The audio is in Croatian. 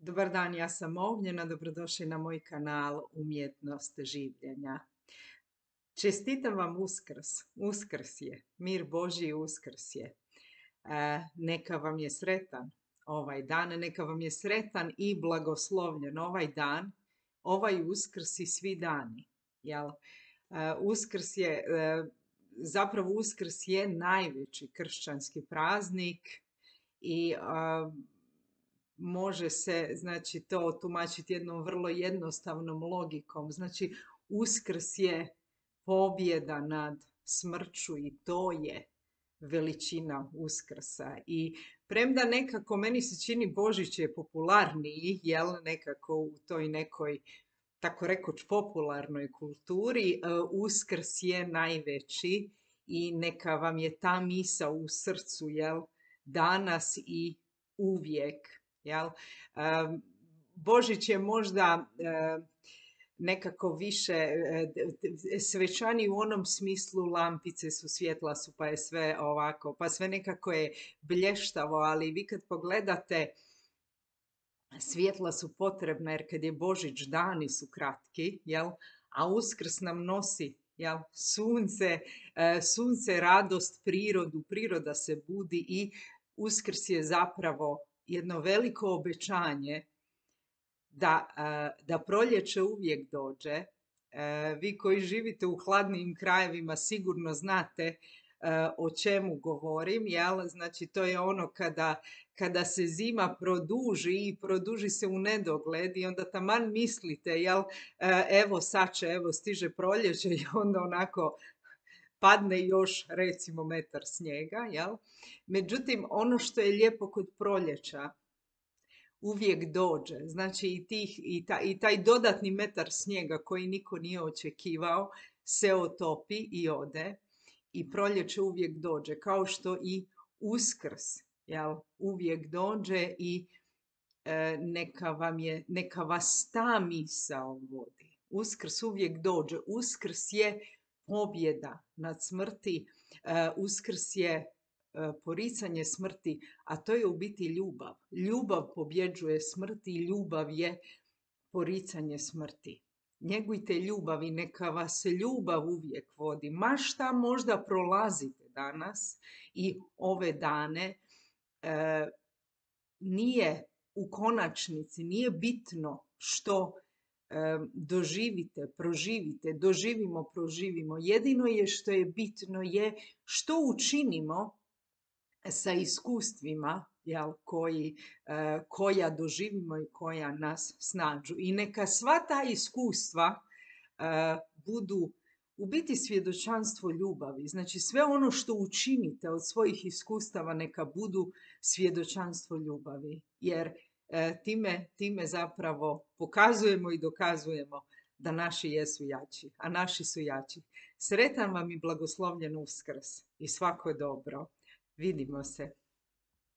Dobar dan, ja sam Ognjena, dobrodošli na moj kanal Umjetnost življenja. Čestitam vam Uskrs, Uskrs je, mir Božji Uskrs je. Neka vam je sretan ovaj dan, neka vam je sretan i blagoslovljen ovaj dan, ovaj Uskrs i svi dani. Jel? Uskrs je, zapravo Uskrs je najveći kršćanski praznik i može se, znači, to tumačiti jednom vrlo jednostavnom logikom. Znači, Uskrs je pobjeda nad smrću i to je veličina Uskrsa. I premda nekako meni se čini Božić je popularniji, jel, nekako u toj nekoj, tako rekoć, popularnoj kulturi, Uskrs je najveći i neka vam je ta misao u srcu, jel, danas i uvijek. Jel? Božić je možda nekako više svečani u onom smislu, lampice su, svjetla su, pa je sve ovako, pa sve nekako je blještavo, ali vi kad pogledate, svjetla su potrebna jer kad je Božić dani su kratki, jel? A Uskrs nam nosi, jel? Sunce, radost, prirodu, priroda se budi i Uskrs je zapravo jedno veliko obećanje da proljeće uvijek dođe. Vi koji živite u hladnim krajevima sigurno znate o čemu govorim, jel? Znači to je ono kada se zima produži i produži se u nedogled i onda taman mislite, jel, evo sad će, evo stiže proljeće i onda onako padne još recimo metar snijega, jel? Međutim, ono što je lijepo kod proljeća, uvijek dođe. Znači i taj dodatni metar snijega koji niko nije očekivao se otopi i ode i proljeće uvijek dođe. Kao što i Uskrs, jel, uvijek dođe i neka vas ta misao vodi. Uskrs uvijek dođe. Uskrs je pobjeda nad smrti. Uskrs je poricanje smrti, a to je u biti ljubav. Ljubav pobjeđuje smrt i ljubav je poricanje smrti. Njegujte ljubav i neka vas ljubav uvijek vodi. Ma šta možda prolazite danas i ove dane, nije u konačnici, nije bitno što doživite, proživite, doživimo, proživimo. Jedino je što je bitno je što učinimo sa iskustvima, jel, koja doživimo i koja nas snađu. I neka sva ta iskustva budu u biti svjedočanstvo ljubavi. Znači sve ono što učinite od svojih iskustava neka budu svjedočanstvo ljubavi. Jer time zapravo pokazujemo i dokazujemo da naši jesu jači, a naši su jači. Sretan vam i blagoslovljen Uskrs i svako dobro. Vidimo se.